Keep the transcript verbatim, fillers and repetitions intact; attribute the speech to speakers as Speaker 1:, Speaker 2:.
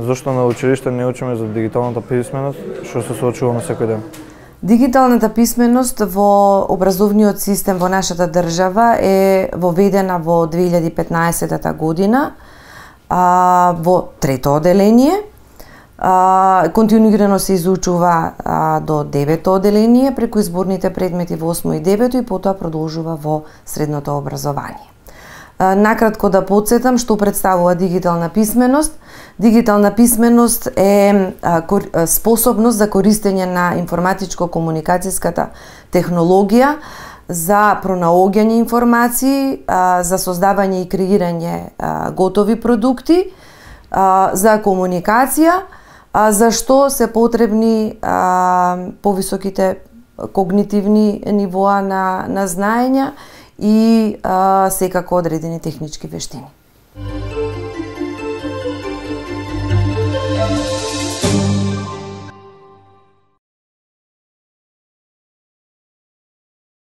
Speaker 1: Зошто на училиште не учиме за дигиталната писменост, што се соочуваме секој ден?
Speaker 2: Дигиталната писменост во образовниот систем во нашата држава е воведена во две илјади и петнаесетта година а, во трето оделение. А, континуирано се изучува а, до девето оделение преку изборните предмети во осмо и девето и потоа продолжува во средното образование. А, накратко да потсетам што представува дигитална писменост. Дигитална писменост е а, кор, а, способност за користење на информатичко-комуникацијската технологија за пронаоѓање информации, а, за создавање и креирање а, готови продукти, а, за комуникација, а, за што се потребни а, повисоките когнитивни нивоа на, на знаења и а, секако одредени технички вештини.